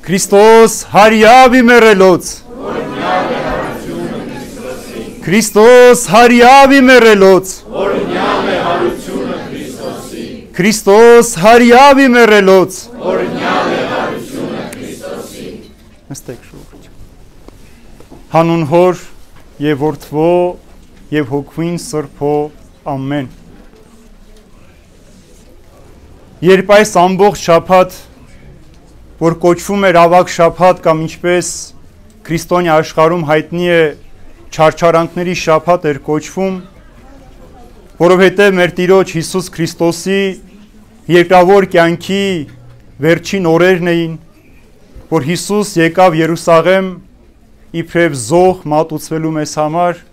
Քրիստոս հարյավի մեռելոց Քրիստոս հարյավի մեռելոց Քրիստոս հարյավի մեռելոց Նստեք շուտ Հանուն Հոր եւ Որդվո եւ Հոգին Սրբո ամեն Երբ այս ամբողջ շաբաթ որ կոչվում էր ավագ շաբաթ կամ ինչպես քրիստոնյա աշխարհում հայտնի է չարչարանքների շաբաթ էր կոչվում որովհետև մեր Տիրոջ Հիսուս Քրիստոսի երկրավոր կյանքի վերջին օրերն էին որ Հիսուս եկավ Երուսաղեմ իբրև զոհ մատուցվելու մեզ համար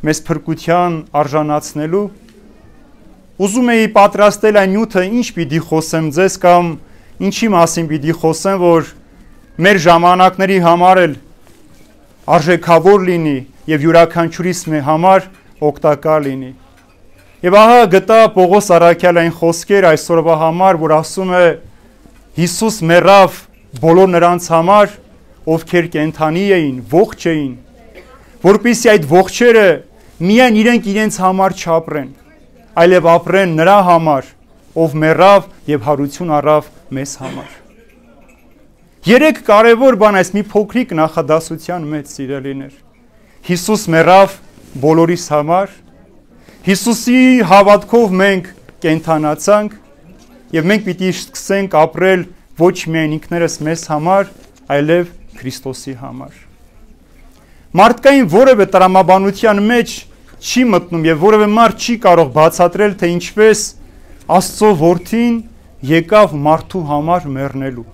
մեզ փրկության արժանացնելու ուզում էի պատրաստել այն նյութը ինչ պիտի խոսեմ ձեզ կամ ինչի մասին պիտի խոսեմ որ մեր ժամանակների համար էլ արժեքավոր լինի եւ յուրաքանչյուրիս համար օգտակար լինի եւ ահա գտա Պողոս Առաքյալ այն խոսքեր այսօրվա համար որ ասում է Հիսուս մեռավ բոլոր նրանց համար ովքեր կենթանի էին ողջ էին որպեսզի այդ ողջերը միայն իրենց համար չապրեն այլև ապրեն նրա համար ով մեռավ եւ հարություն առավ մեզ համար Երեք կարևոր բան այս մի փոքրիկ նախադասության մեջ սիրելիներ Հիսուս մեռավ բոլորիս համար Հիսուսի հավատքով մենք կենթանացանք եւ մենք պիտի սկսենք ապրել ոչ միայն ինքներս մեզ համար այլև Քրիստոսի համար Մարդկային որևէ տրամաբանության մեջ չի մտնում եւ որևէ մարդ չի կարող բացատրել թե ինչպես Աստծո որդին եկավ մարդու համար մեռնելու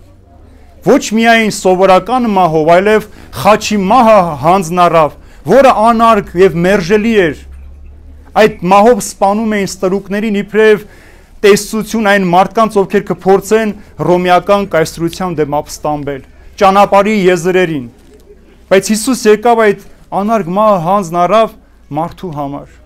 Ոչ միայն սովորական մահով, այլև խաչի մահը հանձն առավ, որը անարգ եւ մերժելի էր Այդ մահով սպանում էին ստրուկներին իբրև տեսություն այն մարդկանց ովքեր կփորձեն ռոմեական կայսրության դեմ ապստամբել ճանապարհի եզրերին Բայց Հիսուս եկավ այդ անարգ մահը հանձն առավ մարդու համար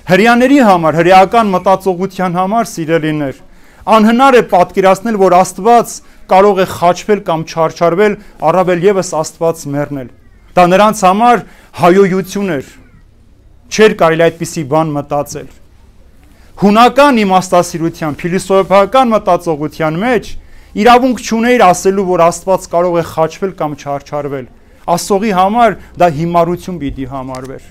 Հրեաների համար, հրեական մտածողության համար սիրելիներ անհնար է պատկերացնել, որ Աստված կարող է խաչվել կամ չարչարվել, առավել եւս Աստված մեռնել Դա նրանց համար հայոյություն էր Չէր կարելի այդպիսի բան մտածել Հունական իմաստասիրության, փիլիսոփայական մտածողության մեջ իրավունք չուներ ասելու, որ Աստված կարող է խաչվել կամ չարչարվել Աստծողի համար դա հիմարություն պիտի համարվեր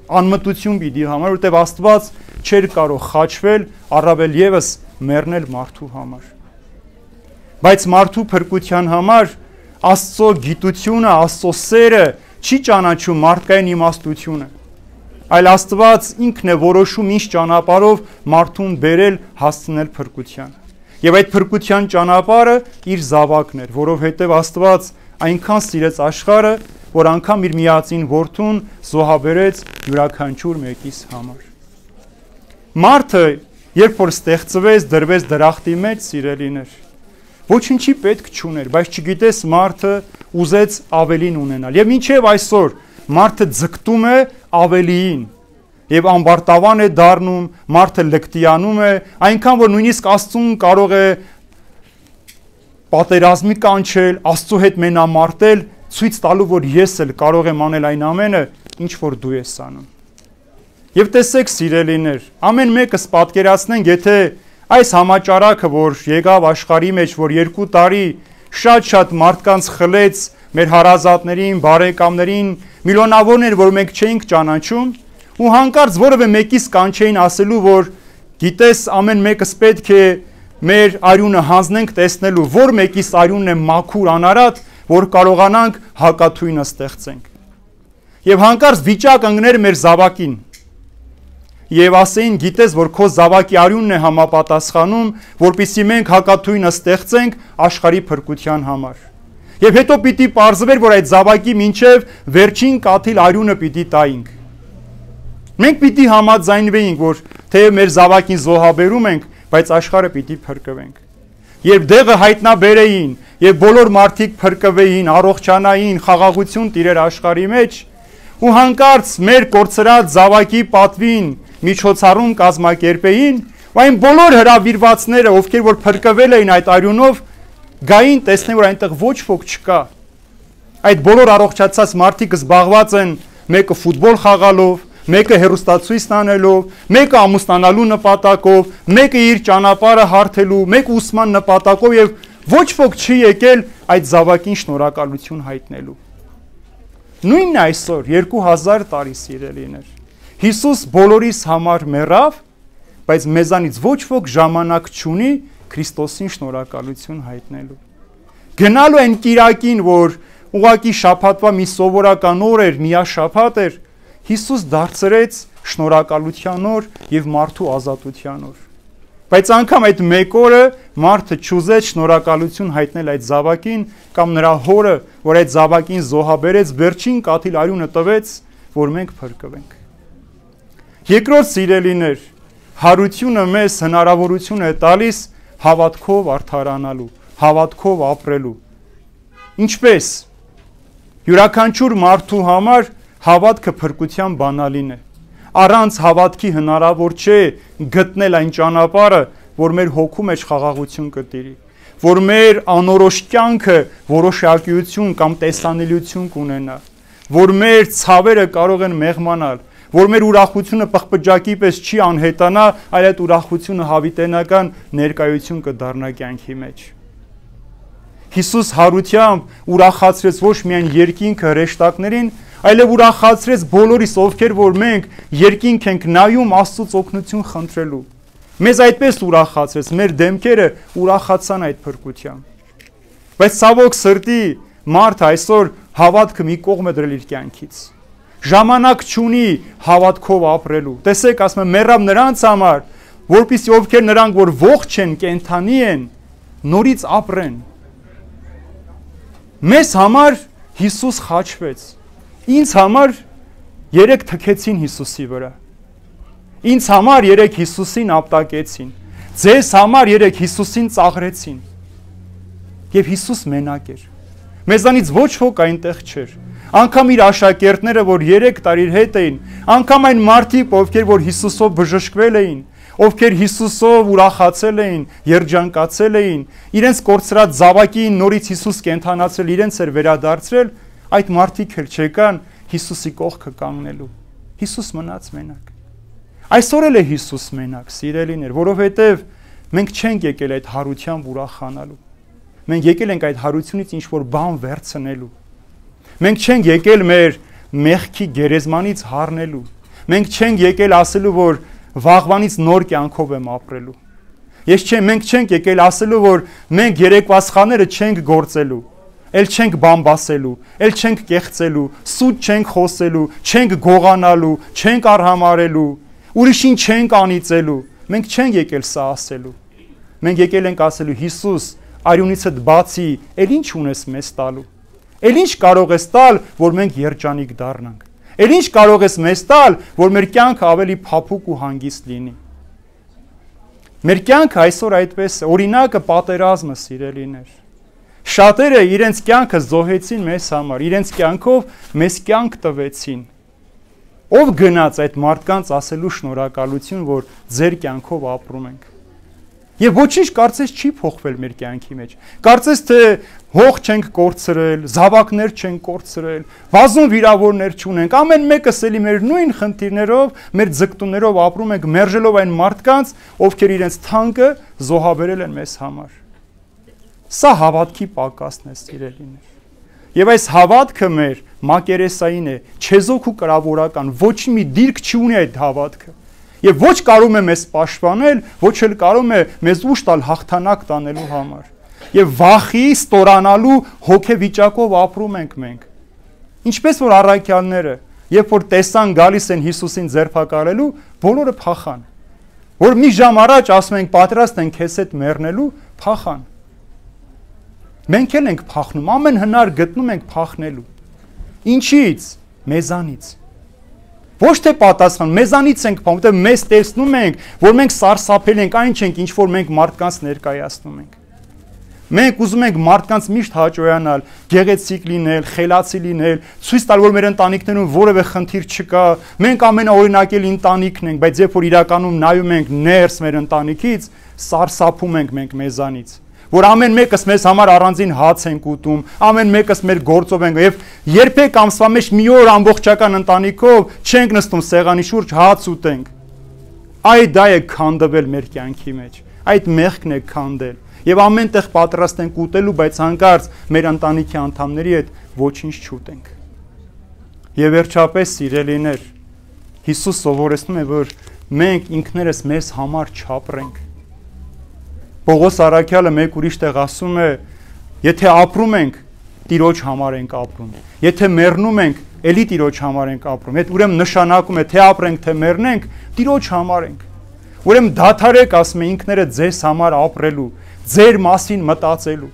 Անմտություն պիտի համար, որտեղ Աստված չէր կարող խաչվել, առավել եւս մեռնել մարդու համար Բայց մարդու փրկության համար Աստծո գիտությունը, Աստծո սերը չի ճանաչում մարդկային իմաստությունը Այլ Աստված ինքն է որոշում ինչ ճանապարհով մարդուն բերել հասցնել փրկության Եվ այդ փրկության ճանապարհը իր զավակն էր, որովհետև Աստված այնքան սիրեց աշխարհը, որ անգամ իր միածին որդուն զոհաբերեց յուրաքանչյուր մեկիս համար Մարդը, երբ որ ստեղծվեց, դրվեց դրախտի մեջ, սիրելիներ Ոչինչի պետք չուներ, բայց չգիտես մարդը ուզեց ավելին ունենալ Եվ մինչև այսօր մարդը ձգտում է ավելիին Եվ ամբարտավան է դառնում, մարդը լկտիանում է Այնքան, որ նույնիսկ Աստծուն կարող է պատերազմի կանչել, Աստծո հետ մենամարտել Ցույց տալու, որ ես էլ կարող եմ անել այն ամենը, ինչ որ դու ես անում Եվ տեսեք սիրելիներ, ամեն մեկս պատկերացնենք, եթե Այս համաճարակը, որ եկավ աշխարհի մեջ, որ 2 տարի շատ մարդկանց խլեց մեր հարազատներին, բարեկամներին, միլիոնավորներ, որ մենք չէինք ճանաչում, ու հանկարծ որևէ մեկից կանչեին ասելու, որ գիտես ամեն մեկս պետք է մեր արյունը հանձնենք տեսնելու, որ մեկից արյունն է մաքուր անարատ, որ կարողանանք հակաթույնը ստեղծենք։ Եվ հանկարծ վիճակ ընկներ մեր զավակին Եվ ասեին, գիտես, որ քո զավակի արյունն է համապատասխանում, որպեսզի մենք հակաթույնը ստեղծենք աշխարհի փրկության համար։ Եվ հետո պիտի պարզվեր, որ այդ զավակի մինչև վերջին կաթիլ արյունը պիտի տայինք։ Մենք պիտի համաձայնվեինք, որ թեև մեր զավակին զոհաբերում ենք, բայց աշխարհը պիտի փրկվենք։ Երբ դեղը հայտնաբերեին, եւ բոլոր մարդիկ փրկվեին, առողջանային, խաղաղություն տիրեր աշխարհի մեջ, ու հանկարծ մեր կորցրած զավակի պատվին միջոցառում կազմակերպեին, ու այն բոլոր հրավիրվածները, ովքեր որ փրկվել էին այդ արյունով, գային տեսնեն, որ այնտեղ ոչ ոք չկա։ Այդ բոլոր առողջացած մարդիկ զբաղված են մեկը ֆուտբոլ խաղալով, մեկը հեռուստացույց տանելով, մեկը ամուսնանալու նպատակով, մեկը իր ճանապարհը հարթելու, մեկը ուսման նպատակով եւ ոչ ոք չի եկել այդ զավակին շնորհակալություն հայտնելու։ Նույնն այսօր 2000 տարի սիրելիներ։ Հիսուս բոլորիս համար մեռավ, բայց մեզանից ոչ ոք ժամանակ չունի Քրիստոսին շնորհակալություն հայտնելու։ Գնալու այն կիրակին, որ ուղակի շաբաթվա մի սովորական օր էր, միաշաբաթ էր, Հիսուս դարձրեց շնորհակալության օր եւ մարդու ազատության օր։ Բայց անգամ այդ մեկ օրը մարդը չուզեց շնորհակալություն հայտնել այդ զավակին կամ նրա հորը, որ այդ զավակին զոհաբերեց, վերջին կաթիլ արյունը տվեց, որ մենք փրկվենք։ Երկրորդ սիրելիներ, հարությունը մեզ հնարավորություն է տալիս հավատքով արդարանալու, հավատքով ապրելու։ Ինչպես յուրաքանչյուր մարդու համար հավատքը փրկության բանալին է։ Առանց հավատքի հնարավոր չէ գտնել այն ճանապարհը, որ մեր հոգու մեջ խաղաղություն կտիրի, որ մեր անորոշ կյանքը որոշակիություն կամ տեսանելիություն կունենա, որ մեր ցավերը կարող են մեղմանալ, որ մեր ուրախությունը պղպջակի պես չի անհետանա, այլ այդ ուրախությունը հավիտենական ներկայություն կդառնա կյանքի մեջ։ Հիսուս հարությամբ ուրախացրեց ոչ միայն երկինքը հրեշտակներին, այլև ուրախացրեց բոլորիս, ովքեր որ մենք երկինք ենք նայում Աստծուց օգնություն խնդրելու։ Մեզ այդպես ուրախացրեց, մեր դեմքերը ուրախացան այդ փրկությամբ։ Բայց ցավոք սրտի մարդը այսօր հավատքը մի կողմ է դրել իր կյանքից։ Ժամանակ չունի հավատքով ապրելու։ Տեսեք, ասում եմ, մեռավ նրանց համար, որպեսզի ովքեր նրանք որ ողջ են, կենթանի են, նորից ապրեն։ Մեզ համար Հիսուս խաչվեց։ Ինձ համար երեք թքեցին Հիսուսի վրա։ Ինձ համար երեք Հիսուսին ապտակեցին։ Ձեզ համար երեք Հիսուսին ծաղրեցին։ Եվ Հիսուս մենակ էր։ Մեզանից ոչ ոք այնտեղ չէր։ Անկամ իր աշակերտները, որ 3 տարի իր հետ էին, անկամ այն մարդիկ, ովքեր որ Հիսուսով բժշկվել էին, ովքեր Հիսուսով ուրախացել էին, երջանկացել էին, իրենց կորցրած զավակին նորից Հիսուս կենթանացրել, իրենց էր վերադարձրել, այդ մարդիկ էլ չեկան Հիսուսի կողքը կանգնելու։ Հիսուս մնաց մենակ։ Այսօր էլ է Հիսուս մենակ, սիրելիներ, որովհետև մենք չենք եկել այդ հարությամբ ուրախանալու։ Մենք եկել ենք այդ հարությունից ինչ-որ բան վերցնելու։ Մենք չենք եկել մեր մեղքի գերեզմանից հառնելու։ Մենք չենք եկել ասելու, որ վաղվանից նոր կյանքով եմ ապրելու։ Մենք չենք եկել ասելու, որ մենք երեկվա սխալները չենք գործելու, էլ չենք բամբասելու, էլ չենք կեղծելու, սուտ չենք խոսելու, չենք գողանալու, չենք արհամարելու, ուրիշին չենք անիծելու։ Մենք չենք եկել սա ասելու։ Մենք եկել ենք ասելու, Հիսուս, արյունիցդ բացի, էլ ինչ ունես մեզ տալու։ Էլ ինչ կարող ես տալ, որ մենք երջանիկ դառնանք։ Էլ ինչ կարող ես մեզ տալ, որ մեր կյանքը ավելի փափուկ ու հանգիստ լինի։ Մեր կյանքը այսօր այդպես է, օրինակը պատերազմը, սիրելիներ։ Շատերը իրենց կյանքը զոհեցին մեզ համար, իրենց կյանքով մեզ կյանք տվեցին։ Ով գնաց այդ մարդկանց ասելու շնորհակալություն, որ ձեր կյանքով ապրում ենք։ Եվ ոչինչ կարծես չի փոխվել մեր կյանքի մեջ։ Կարծես թե հող չենք կորցրել, զավակներ չենք կորցրել, բազում վիրավորներ չունենք, ամեն մեկս էլի մեր նույն խնդիրներով, մեր ձգտումներով ապրում ենք, մերժելով այն մարդկանց, ովքեր իրենց թանկը զոհաբերել են մեզ համար։ Սա հավատքի պակասն է, սիրելիներ։ Եվ այս հավատքը մեր մակերեսային է, չեզոք ու կրավորական, ոչ մի դիրք չունի այդ հավատքը։ Եվ ոչ կարող է մեզ պաշտպանել, ոչ էլ կարող է մեզ ուժ տալ հաղթանակ տանելու համար։ Եվ վախի ստորանալու հոգեվիճակով ապրում ենք մենք։ Ինչպես որ առաքյալները, երբ որ տեսան գալիս են Հիսուսին ձերբակալելու, բոլորը փախան։ Որ մի ժամ առաջ ասում ենք պատրաստ ենք քեզ հետ մեռնելու, փախան։ Մենք էլ ենք փախնում, ամեն հնար գտնում ենք փախնելու։ Ինչից? Մեզանից։ Ոչ թե պատասխան, մեզանից ենք փախնում, որտեղ մեզ տեսնում ենք, որ մենք սարսափել ենք, այն չենք, ինչ որ մենք մարդկանց ներկայացնում ենք։ Մենք ուզում ենք մարդկանց միշտ հաճոյանալ, գեղեցիկ լինել, խելացի լինել, ցույց տալ, որ մեր ընտանիքներում որևէ խնդիր չկա, մենք ամենաօրինակելի ընտանիքն ենք, բայց երբ որ իրականում նայում ենք ներս մեր ընտանիքից, սարսափում ենք մենք մեզանից։ որ ամեն մեկս մեզ համար առանձին հաց ենք ուտում, ամեն մեկս մեր գործով ենք եւ երբեք ամսվա մեջ մի օր ամբողջական ընտանիքով չենք նստում սեղանի շուրջ հաց ուտենք։ Այդ դա է քանդվել մեր կյանքի մեջ, այդ մեղքն է քանդել եւ ամենտեղ պատրաստ ենք ուտելու, բայց հանկարծ մեր ընտանիքի անդամների հետ ոչինչ չուտենք։ Եվ վերջապես սիրելիներ, Հիսուս սովորեցնում է, որ մենք ինքներս մեզ համար չապրենք։ Պողոս առաքյալը մեկ ուրիշ տեղ ասում է, եթե ապրում ենք, Տիրոջ համար ենք ապրում։ Եթե մեռնում ենք, էլի Տիրոջ համար ենք ապրում։ Այդ ուրեմն նշանակում է, թե ապրենք, թե մեռնենք, Տիրոջ համար ենք։ Ուրեմն դադարեք, ասում է, ինքներդ ձեզ համար ապրելու, ձեր մասին մտածելու։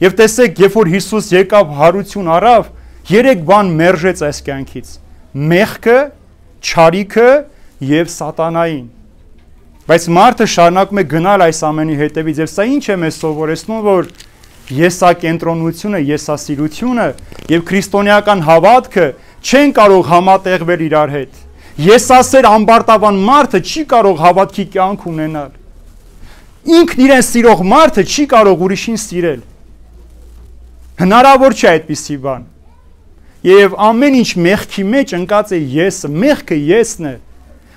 Եվ տեսեք, երբ որ Հիսուս եկավ հարություն առավ, 3 բան մերժեց այս կյանքից. մեղքը, չարիքը եւ սատանային։ Բայց մարդը շարունակում է գնալ այս ամենի հետևից եւ սա ինչ է մեզ սովորեցնում, որ եսակենտրոնությունը, եսասիրությունը եւ քրիստոնեական հավատքը չեն կարող համատեղվել իրար հետ։ Եսասեր ամբարտավան մարդը չի կարող հավատքի կյանք ունենալ։ Ինքն իրեն սիրող մարդը չի կարող ուրիշին սիրել։ Հնարավոր չէ այդպիսի բան։ Եվ ամեն ինչ մեղքի մեջ ընկած է եսը, մեղքը եսն է,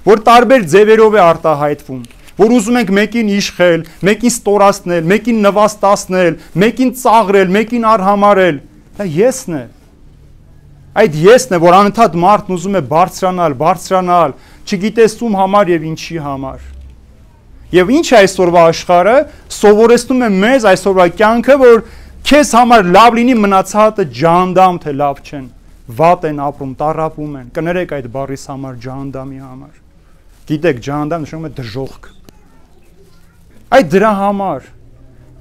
որ տարբեր ձևերով է արտահայտվում, որ ուզում ենք մեկին իշխել, մեկին ստորացնել, մեկին նվաստացնել, մեկին ծաղրել, մեկին արհամարել, դա եսն է։ Այդ եսն է, որ անընդհատ մարդն ուզում է բարձրանալ, չգիտես ում համար եւ ինչի համար։ Եվ ինչ է այսօրվա աշխարհը, սովորեցնում է մեզ այսօրվա կյանքը, որ քեզ համար լավ լինի, մնացածը ջահանդամ թե լավ չեն, վատ են ապրում, տառապում են, կներեք այդ բառիս համար, ջահանդամի համար։ Գիտեք, ջահանդամ նշանակում է դժոխք։ Այդ դրա համար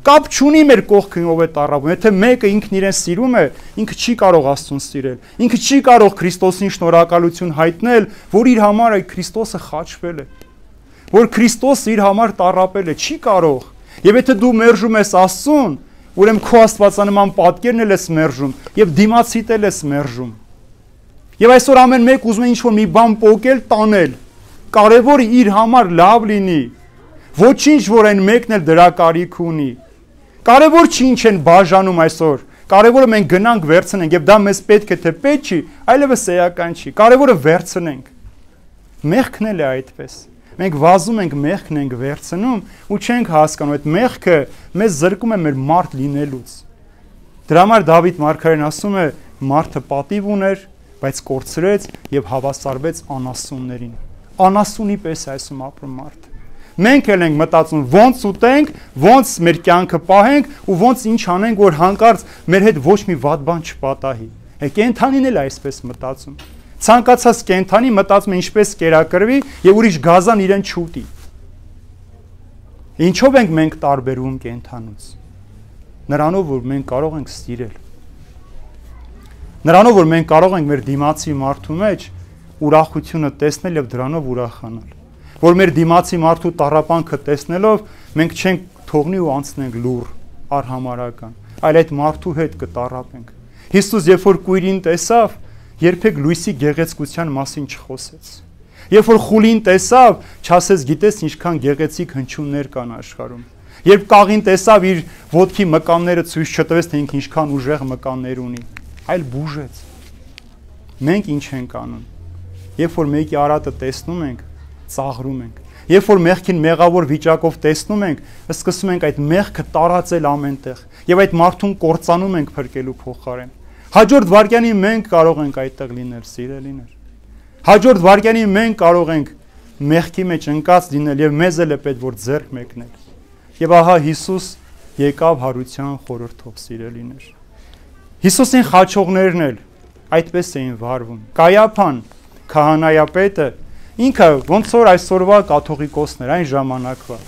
կապ չունի մեր կողքին ով է տառապում, եթե մեկը ինքն իրեն սիրում է, ինքը չի կարող Աստծուն սիրել, ինքը չի կարող Քրիստոսին շնորհակալություն հայտնել, որ իր համար այդ Քրիստոսը խաչվել է, որ Քրիստոսը իր համար տառապել է, չի կարող։ Եվ եթե դու մերժում ես Աստծուն, ուրեմն քո աստվածանման պատկերն էլ ես մերժում եւ դիմացիտ էլ ես մերժում։ Եվ այսօր ամեն մեկ ուզում է ինչ-որ մի բան պոկել, տանել։ Կարևորը իր համար լավ լինի։ Ոչինչ, որ այն մեկն էլ դրա կարիք ունի։ Կարևոր չի ինչ են բաժանում այսօր։ Կարևորը մենք գնանք վերցնենք եւ դա մեզ պետք է թե պետք չի, այլևս էական չի։ Կարևորը վերցնենք։ Մեղքն էլ է այդպես։ Մենք վազում ենք, մեղքն ենք վերցնում ու չենք հասկանում, այդ մեղքը մեզ զրկում է մեր մարդ լինելուց։ Դրա համար Դավիթ մարգարեն ասում է, մարդը պատիվ ուներ, բայց կորցրեց եւ հավասարվեց անասուններին։ Անասունի պես այսում ապրում մարդը։ Մենք էլ ենք մտածում ոնց ուտենք, ոնց մեր կյանքը պահենք ու ոնց ինչ անենք, որ հանկարծ մեր հետ ոչ մի վատ բան չպատահի։ Կենդանին էլ այսպես մտածում։ Ցանկացած կենդանի մտածում է ինչպես կերակրվի եւ ուրիշ գազան իրեն չուտի։ Ինչով ենք մենք տարբերվում կենդանուց։ Նրանով, որ մենք կարող ենք սիրել։ Նրանով, որ մենք կարող ենք մեր դիմացի մարդու մեջ ուրախությունը տեսնել եւ դրանով ուրախանալ։ Որ մեր դիմացի մարդու տառապանքը տեսնելով մենք չենք թողնի ու անցնենք լուր, արհամարական, այլ այդ մարդու հետ կտառապենք։ Հիսուս երբ որ կույրին տեսավ, երբեք լույսի գեղեցկության մասին չխոսեց։ Երբ որ խուլին տեսավ, չասեց գիտես ինչքան գեղեցիկ հնչյուններ կան աշխարհում։ Երբ կաղին տեսավ, իր ոտքի մկանները ցույց չտվեց, թե ինքը ինչքան ուժեղ մկաններ ունի, այլ բուժեց։ Մենք ինչ ենք անում։ Երբ որ մեկի արատը տեսնում ենք, ծաղրում ենք։ Երբ որ մեղքին մեղավոր վիճակով տեսնում ենք, սկսում ենք այդ մեղքը տարածել ամենտեղ եւ այդ մարդուն կործանում ենք փրկելու փոխարեն։ Հաջորդ վարքյանին մենք կարող ենք այդտեղ լինել, սիրելիներ։ Հաջորդ վարքյանին մենք կարող ենք մեղքի մեջ ընկած լինել եւ մեզ էլ է պետք որ ձեռք մեկնել։ Եվ ահա Հիսուս եկավ հարության խորհրդով, սիրելիներ։ Հիսուսին խաչողներն էլ այդպես էին վարվում։ Կայափան, քահանայապետը, ինքը ոնց որ այսօրվա կաթողիկոսներ այն ժամանակվա։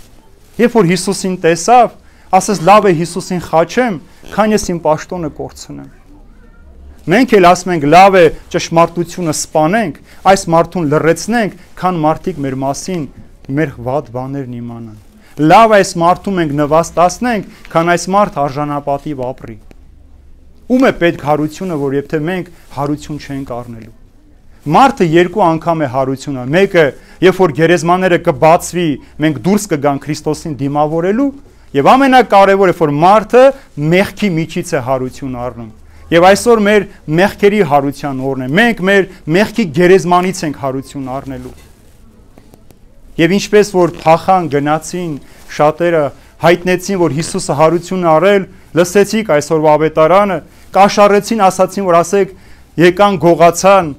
Երբ որ Հիսուսին տեսավ, ասես լավ է Հիսուսին խաչեմ, քան ես իմ պաշտոնը կորցնեմ։ Մենք էլ ասում ենք լավ է ճշմարտությունը սպանենք, այս մարդուն լռեցնենք, քան մարդիկ մեր մասին մեր վատ բաներն իմանան։ Լավ է այս մարդուն մենք նվաստացնենք, քան այս մարդ արժանապատիվ ապրի։ Ում է պետք հարությունը, որ եթե մենք հարություն չենք առնելու։ Մարդը երկու անգամ է հարությունը, մեկը երբ որ գերեզմաները կբացվի, մենք դուրս կգանք Քրիստոսին դիմավորելու, Եվ ամենակարևորը, որ մարդը մեղքի միջից է հարություն առնում։ Եվ այսօր մեր մեղքերի հարության օրն է։ Մենք մեր մեղքի գերեզմանից ենք հարություն առնելու։ Եվ ինչպես որ փախան գնացին, շատերը հայտնեցին, որ Հիսուսը հարություն առել, լսեցիք այսօրվա ավետարանը, կաշառեցին, ասացին, որ ասեք, եկան գողացան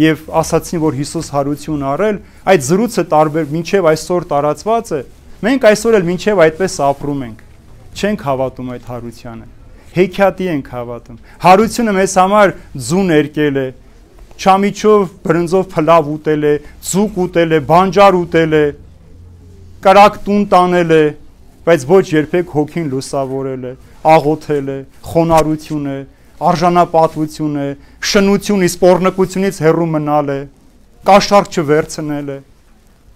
եւ ասացին, որ Հիսուս հարություն առել, այդ զրույցը տարբեր մինչեւ այսօր տարածված է։ Մենք այսօր էլ մինչեւ այդպես ապրում ենք։ Չենք հավատում այդ հարությանը։ Հեքիաթի ենք հավատում։ Հարությունը մեզ համար ձու ներկել է, չամիչով բրնձով փլավ ուտել է, ձուկ ուտել է, բանջար ուտել է, կրակ տուն տանել է, բայց ոչ երբեք հոգին լուսավորել է, աղոթել է, խոնարհություն է, արժանապատվություն է, շնություն, իսկ պոռնկությունից հեռու մնալ է, կաշառք չվերցնել է։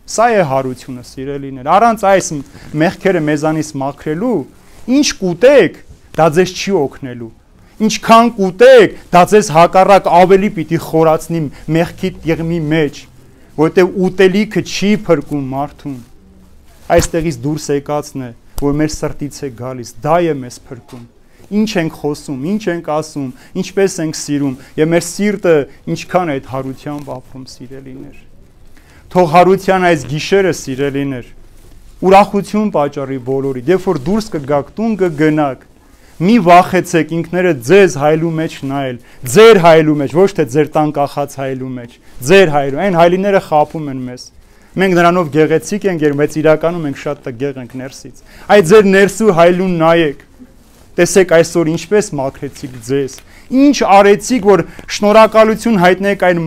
Սա է հարությունը, սիրելիներ։ Առանց այս մեղքերը մեզանից մաքրելու, ինչ կուտեք, դա ձեզ չի օգնելու։ Ինչքան կուտեք, դա ձեզ հակառակ ավելի պիտի խորացնի մեղքի տիղմի մեջ, որտեղ ուտելիքը չի փրկում մարդուն։ Այստեղից դուրս եկածն է, որ մեր սրտից է գալիս, դա է մեզ փրկում։ Ինչ ենք խոսում, ինչ ենք ասում, ինչպես ենք սիրում, եւ մեր սիրտը ինչքան է այդ հարությամբ ապրում, սիրելիներ։ Թող հարության այս գիշերը, սիրելիներ, ուրախություն պատճառի բոլորի, երբ որ դուրս կգաք, տուն կգնաք, մի վախեցեք ինքներդ ձեզ հայլու մեջ նայել, ձեր հայլու մեջ, ոչ թե ձեր տան կախած հայլու մեջ, ձեր հայլու, այն հայլիները խաբում են մեզ։ Մենք նրանով գեղեցիկ ենք, բայց իրականում մենք շատ տգեղ ենք ներսից։ Այդ ձեր ներսու հայլուն նայեք։ Տեսեք այսօր ինչպես մաքրեցիք ձեզ։ Ինչ արեցիք, որ շնորհակալություն հայտնեք այն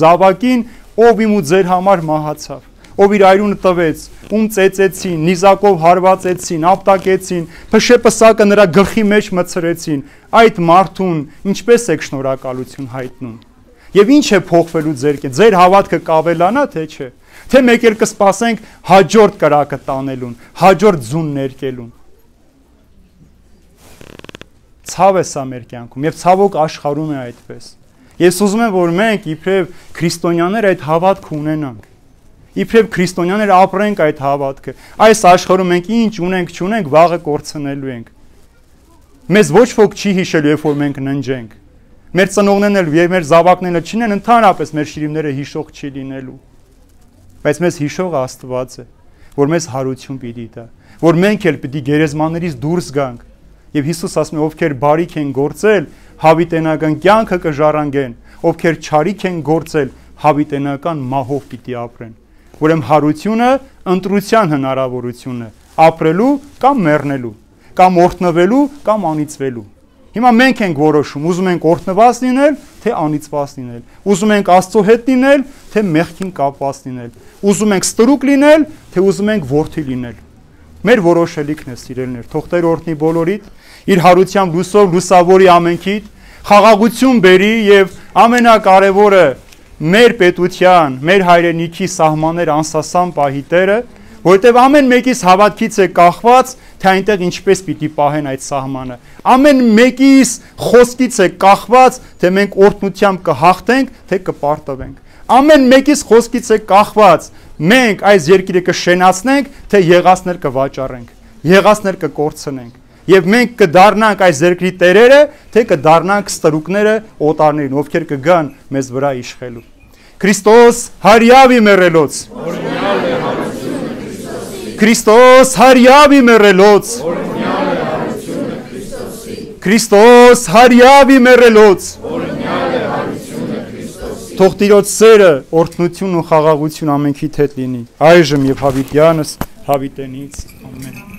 զավակին, ով իմ ու ձեր համար մահացավ, ով իր այրունը տվեց, ում ծեծեցին, նիզակով հարվածեցին, ապտակեցին, փշեպսակը նրա գլխի մեջ մցրեցին, այդ մարդուն ինչպես եք շնորհակալություն հայտնում։ Եվ ինչ է փոխվելու ձեր հավատքը կավելանա, թե չէ։ Թե մեկ էլ կսպասենք հաջորդ կրակը տանելուն, հաջորդ ձուն ներկելուն։ Ցավ է սա մեր կյանքում եւ ցավոք աշխարհում է այդպես։ Ես ուզում եմ, որ մենք իբրև քրիստոնյաներ այդ հավատքը ունենանք։ Իբրև քրիստոնյաներ ապրենք այդ հավատքը։ Այս աշխարհում մենք ինչ ունենք, չունենք, վաղը կորցնելու ենք։ Մեզ ոչ ոք չի հիշելու, երբ որ մենք ննջենք։ Մեր ծնողներն էլ եւ մեր զավակներն չինեն, ընդհանրապես մեր շիրիմները հիշող չի լինելու։ Բայց մեզ հիշող Աստված է, որ մեզ հարություն պիտի տա, որ մենք էլ պիտի գերեզմաններից դուրս գանք։ Եվ Հիսուս ասում է, ովքեր բարիք են գործել, հավիտենական կյանքը կժառանգեն, ովքեր չարիք են գործել, հավիտենական մահով պիտի ապրեն։ Ուրեմն հարությունը ընտրության հնարավորություն է, ապրելու կամ մեռնելու, կամ օրհնվելու կամ անիծվելու։ Հիմա մենք ենք որոշում, ուզում ենք օրհնված լինել, թե անիծված լինել, ուզում ենք Աստծո հետ լինել, թե մեղքին կապված լինել, ուզում ենք ստրուկ լինել, թե ուզում ենք որդի լինել։ Մեր որոշելիքն է, սիրելիներ, թող Տեր օրհնի բոլորիդ, իր հարությամբ լուսով լուսավորի ամենքիդ, խաղաղություն բերի եւ ամենակարևորը մեր պետության, մեր հայրենիքի սահմաններ անսասան պահի Տերը, որտեղ ամեն մեկից հավատքից է կախված, թե այնտեղ ինչպես պիտի պահեն այդ սահմանը։ Ամեն մեկից խոսքից է կախված, թե մենք օրհնությամբ կհաղթենք, թե կպարտվենք։ Ամեն մեկից խոսքից է կախված, մենք այս երկիրը կշենացնենք, թե եղածներ կվաճառենք, եղածներ կկորցնենք։ Եվ մենք կդառնանք այս երկրի տերերը, թե կդառնանք ստրուկները օտարներին, ովքեր կգան մեզ վրա իշխելու։ Քրիստոս հարյավի մեռելոց։ Քրիստոս հարյավի մեռելոց։ Քրիստոս հարյավի մեռելոց։ Թող Տիրոջ սերը, օրհնությունն ու խաղաղություն ամենքիդ հետ լինի, այժմ եւ հավիտյանս հավիտենից։ Ամեն։